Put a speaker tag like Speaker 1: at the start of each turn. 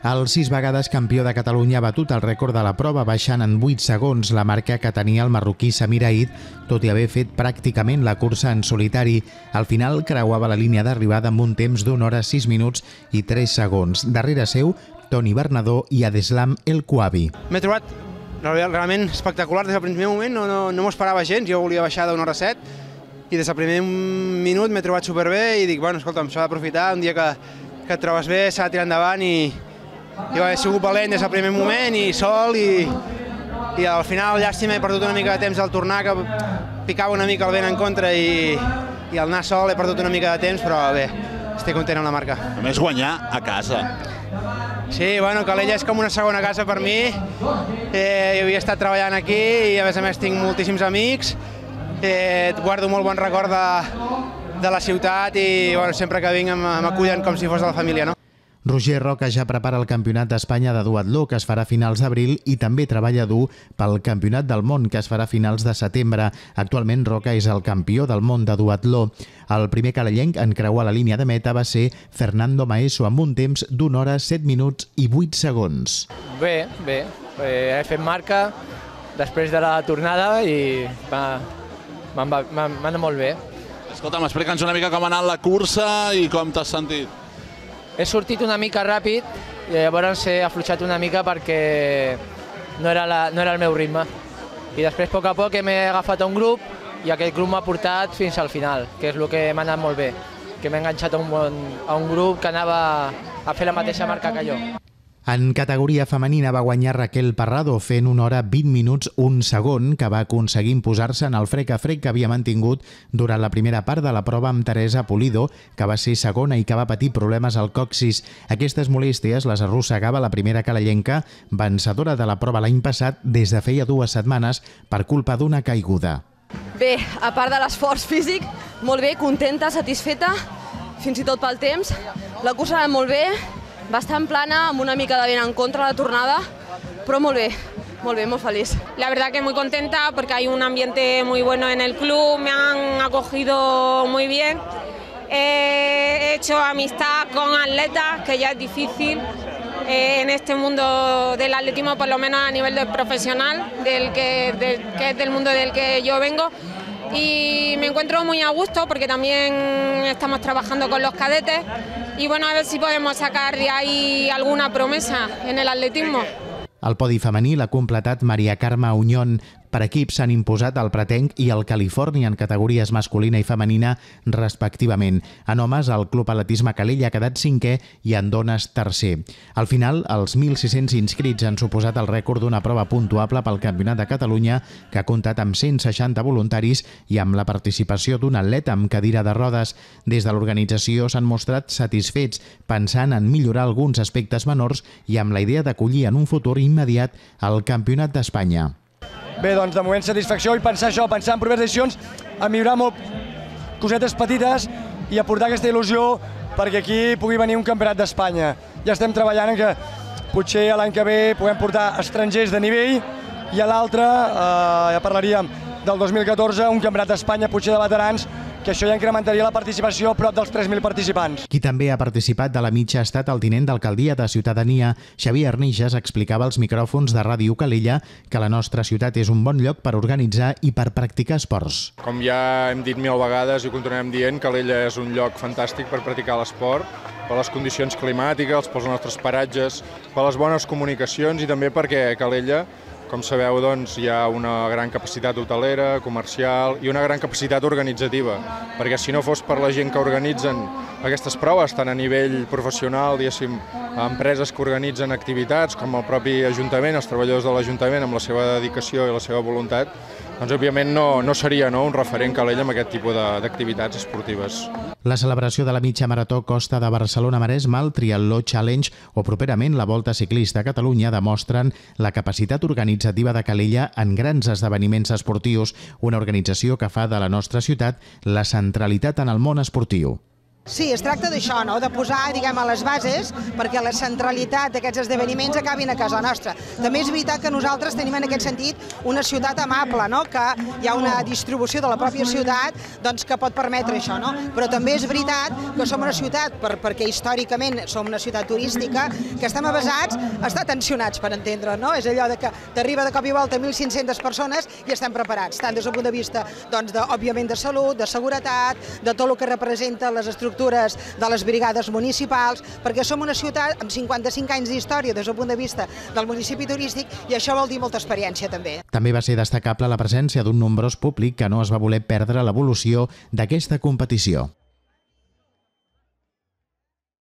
Speaker 1: El 6 vegades campió de Catalunya ha batut el rècord de la prova, baixant en 8 segons la marca que tenia el marroquí Samir Aïd, tot i haver fet pràcticament la cursa en solitari. Al final creuava la línia d'arribada amb un temps d'1 hora 6 minuts i 3 segons. Darrere seu, Toni Bernadó i Adeslam El Kouabi.
Speaker 2: M'he trobat realment espectacular des del primer moment, no m'ho esperava gens, jo volia baixar d'1 hora 7 i des del primer minut m'he trobat superbé i dic, bueno, escolta'm, s'ha d'aprofitar, un dia que et trobes bé s'ha de tirar endavant i he sigut valent des del primer moment i sol i al final, llàstima, he perdut una mica de temps al tornar, que picava una mica el vent en contra i al anar sol he perdut una mica de temps, però bé, estic content amb la marca.
Speaker 3: A més, guanyar a casa.
Speaker 2: Sí, bueno, Calella és com una segona casa per mi. Jo havia estat treballant aquí i a més tinc moltíssims amics. Guardo molt bon record de la ciutat i sempre que vinc m'acullen com si fos de la família, no?
Speaker 1: Roger Roca ja prepara el Campionat d'Espanya de duatló, que es farà a finals d'abril, i també treballa dur pel Campionat del món, que es farà a finals de setembre. Actualment, Roca és el campió del món de duatló. El primer calellenc en creuar la línia de meta va ser Fernando Maeso, amb un temps d'1 hora 7 minuts i 8 segons.
Speaker 4: Bé. He fet marca després de la tornada i m'ha anat molt bé.
Speaker 3: Escolta'm, explica'ns una mica com ha anat la cursa i com t'has sentit.
Speaker 4: He sortit una mica ràpid i llavors he afluixat una mica perquè no era el meu ritme. I després, a poc a poc, m'he agafat a un grup i aquest grup m'ha portat fins al final, que és el que m'ha anat molt bé, que m'he enganxat a un grup que anava a fer la mateixa marca que jo.
Speaker 1: En categoria femenina va guanyar Raquel Parrado fent 1 hora 20 minuts 1 segon, que va aconseguir imposar-se en el frec a frec que havia mantingut durant la primera part de la prova amb Teresa Pulido, que va ser segona i que va patir problemes al còccix. Aquestes molèsties les arrossegava la primera calellenca, vencedora de la prova l'any passat des de feia 2 setmanes per culpa d'una caiguda.
Speaker 5: Bé, a part de l'esforç físic, molt bé, contenta, satisfeta, fins i tot pel temps. La cursa va molt bé, bastant plana, amb una mica de vent en contra la tornada, però molt bé, muy feliz.
Speaker 6: La verdad que muy contenta porque hay un ambiente muy bueno en el club, me han acogido muy bien. He hecho amistad con atletas, que ya es difícil en este mundo del atletismo, por lo menos a nivel profesional, que es del mundo del que yo vengo. Y me encuentro muy a gusto porque también estamos trabajando con los cadetes y bueno, a ver si podemos sacar de ahí alguna promesa en el atletismo.
Speaker 1: Al podi femení l'ha completat Maria Carme Auñón. Per equips s'han imposat el Pretenc i el Califòrnia en categories masculina i femenina, respectivament. En homes, el Club Atletisme Calella ha quedat 5è i en dones 3è. Al final, els 1.600 inscrits han suposat el rècord d'una prova puntuable pel Campionat de Catalunya, que ha comptat amb 160 voluntaris i amb la participació d'un atleta amb cadira de rodes. Des de l'organització s'han mostrat satisfets, pensant en millorar alguns aspectes menors i amb la idea d'acollir en un futur immediat el Campionat d'Espanya.
Speaker 7: Bé, doncs de moment satisfacció i pensar en properes edicions, a millorar molt cosetes petites i aportar aquesta il·lusió perquè aquí pugui venir un campionat d'Espanya. Ja estem treballant en que potser l'any que ve puguem portar estrangers de nivell i a l'altre, ja parlaríem del 2014, un campionat d'Espanya potser de veterans, que això ja incrementaria la participació a prop dels 3.000 participants.
Speaker 1: Qui també ha participat de la mitja ha estat el tinent d'alcaldia de Ciutadania. Xavier Arnixes explicava als micròfons de Ràdio Calella que la nostra ciutat és un bon lloc per organitzar i per practicar esports.
Speaker 8: Com ja hem dit 1000 vegades i ho continuem dient, Calella és un lloc fantàstic per practicar l'esport, per les condicions climàtiques, pels nostres paratges, per les bones comunicacions i també perquè Calella, com sabeu, doncs, hi ha una gran capacitat hotelera, comercial i una gran capacitat organitzativa, perquè si no fos per la gent que organitzen aquestes proves, tant a nivell professional, diguéssim, empreses que organitzen activitats, com el propi Ajuntament, els treballadors de l'Ajuntament, amb la seva dedicació i la seva voluntat, doncs, òbviament, no seria un referent Calella amb aquest tipus d'activitats esportives.
Speaker 1: La celebració de la mitja marató Costa de Barcelona-Maresme, el Triatló Challenge o properament la Volta Ciclista a Catalunya demostren la capacitat organitzativa de Calella en grans esdeveniments esportius, una organització que fa de la nostra ciutat la centralitat en el món esportiu.
Speaker 9: Sí, es tracta d'això, de posar, diguem, a les bases perquè la centralitat d'aquests esdeveniments acabin a casa nostra. També és veritat que nosaltres tenim en aquest sentit una ciutat amable, que hi ha una distribució de la pròpia ciutat que pot permetre això, però també és veritat que som una ciutat, perquè històricament som una ciutat turística, que estem avesats a estar tensionats, per entendre, és allò que t'arriba de cop i volta 1.500 persones i estem preparats, tant des del punt de vista, òbviament, de salut, de seguretat, de tot el que representa les estructures de les brigades municipals, perquè som una ciutat amb 55 anys d'història des del punt de vista del municipi turístic i això vol dir molta experiència també.
Speaker 1: També va ser destacable la presència d'un nombrós públic que no es va voler perdre l'evolució d'aquesta competició.